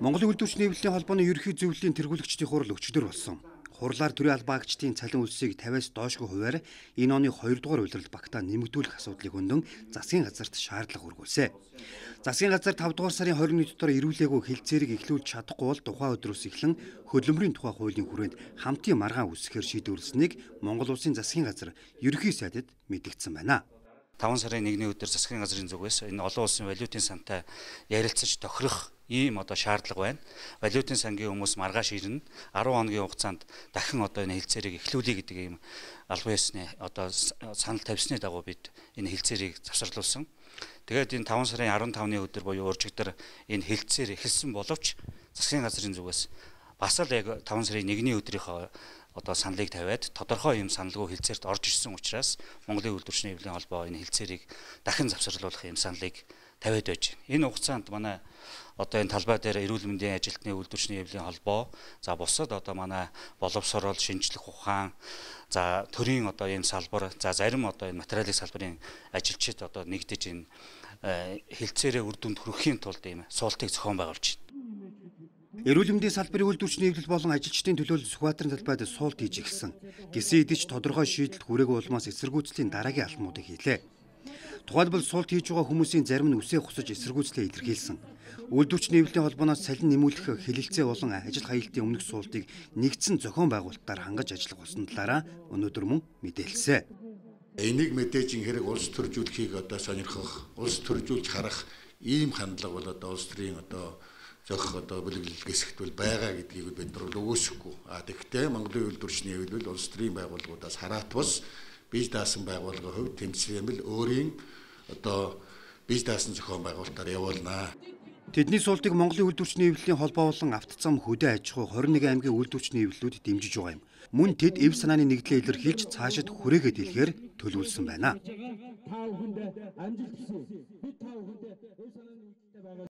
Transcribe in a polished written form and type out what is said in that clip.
Монголын үйлдвэрчний хэвлэлийн холбооны ерөнхий зөвлөлийн тэргүүлэгчдийн хурал өчигдөр болсон. Хурлаар төрийн албаагчдын цалин үлсийг 50-аас доошгүй хувиар энэ оны 2 дугаар улирал багтаа нэмэгдүүлэх асуудлыг хөндлөн засгийн газарт шаардлага хүргүүлсэн. Засгийн газар 5 дугаар сарын 21-нд дотор ирүүлээгүй хэлцээрийг эхлүүлж чадахгүй бол тухайн өдрөөс эхлэн хөдөлмөрийн тухай хуулийн хүрээнд хамтын маргаан үүсгэхээр шийдвэрлэснийг Монгол Улсын засгийн газар ерөнхий сайдад мэдгдсэн байна. 5 сарын 1-ний өдөр засгийн газрын зүгээс энэ олон улсын валютын сантай ярилцаж тохирох ийм шаардлага байна. Валютын сангийн хүмүүс маргааш ирнэ. 10 хоногийн хугацаанд дахин энэ хэлцээрийг эхлүүлэе гэдэг ийм албан ёсны санал тавьсны дагуу бид энэ хэлцээрийг завсарлуулсан. Тэгээд энэ 5 сарын 15-ны өдөр буюу уржигдөр энэ хэлцээр эхэлсэн боловч засгийн газрын зүгээс бас л яг 5 сарын 1-ний өдрийнхөө саналыг тавиад тодорхой юм саналгүй хэлцээрт орж ирсэн учраас Монголын үйлдвэрчний хэвлэлийн холбоо энэ хэлцээрийг дахин завсарлуулах юм саналыг тавиад байж байна. Энэ хугацаанд манай энэ талбай дээр эрүүл мэндийн ажилтны үйлдвэрчний хэвлэлийн холбоо, за бусад манай боловсрол, шинжлэх ухаан, за төрийн энэ салбар, за зарим энэ материалын салбарын ажилчид нэгдэж энэ хэлцээрээ үр дүнд хүрэхийн тулд ийм суултыг зохион байгуулж байна. Эрүүл мэндийн салбарын үйлдвэрчний хэвлэл болон ажилчдын төлөөлөл Сүхбаатарын талбайд суулт хийж эхэлсэн. Гэсэн хэдий ч тодорхой шийдэлт хүрээгүй улмаас эсэргүүцлийн дараагийн алхмуудыг хийлээ. Тухайлбал суулт хийж байгаа хүмүүсийн зарим нь үсээ хусаж эсэргүүцлээ илэрхийлсэн. Үйлдвэрчний хэвлэлийн холбооноос цалин нэмүүлэх хэлэлцээ болон ажил хаялтын өмнөх суултыг нэгдсэн зохион байгуулалтаар хангаж ажиллах болсон талаараа өнөөдөр мөн мэдээлсэн. Энийг мэдээж хэрэг улс төржүүлэхийг сонирхох, улс төржүүлж харах ийм хандлага бол улс төрийн зохих бүлэглэл гэсэгтвэл байгаа гэдгийг бид нар өгөөсөхгүй. Тэгэхдээ Монголын үйлдвэрчний хэвлэл улс төрийн байгууллагуудаас хараат бус бие даасан байгууллагын хувьд тэмцээмэл өөрийн бие даасан зохион байгуулалтаар явуулнаа. Тэдний суултыг Монголын үйлдвэрчний хэвлэлийн холбоо болон автозам хөдөө аж ахуй 21 аймгийн үйлдвэрчний хэвлэлүүд дэмжиж байгаа юм. Мөн тэд эв санааны нэгдлээ илэрхийлж цаашид хүрээгээд хэлэхээр төлөвлөсөн байна.